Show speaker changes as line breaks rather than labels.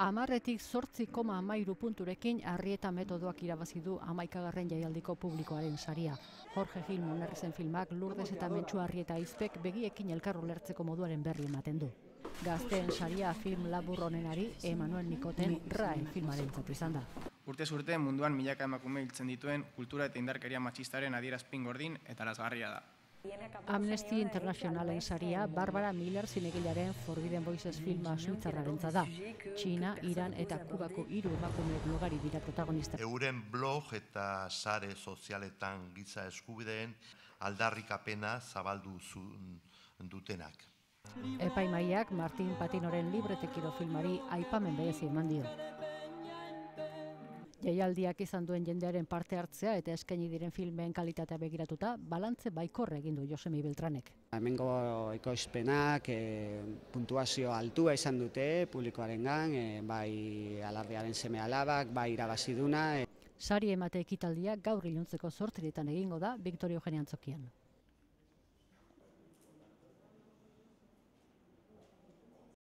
10,8 punturekin Arrieta metodoak irabazi du 11. jaialdiko publikoaren saria. Jorge Gil Monerrizen filmak Lourdes eta Mentxu Arrieta Izpek begiekin elkar ulertzeko moduaren berri ematen du. Gazteen saria film labur honenari Emanuel Nikoten RAE filmarentzat izan da.
Urtez urte munduan milaka emakume hiltzen dituen kultura eta indarkeria matxistaren adierazpin gordin eta lazgarria da.
Amnesty Internationalen saria Barbara Miller zinegilaren Forbidden Voices filma suitzarrarentzat da. Txina, Iran eta Kubako 3 emakume blogari dira protagonista.
Euren blog eta sare sozialetan giza eskubideen aldarrikapena zabaldu dutenak.
Epaimaiak Martin Patinoren Libretekiro filmari aipamen berezi eman dio. Jaialdiak izan duen jendearen parte hartzea eta eskaini diren filmen kalitatea begiratuta, balantze baikorra egin du Josemi Beltranek.
Hemengo ekoizpenak puntuazio altua izan dute publikoarengan, bai alardearen seme-alabak, bai irabaziduna.
Sari emate ekitaldia gaur iluntzeko 8 egingo da Victoria Eugenia Antzokian.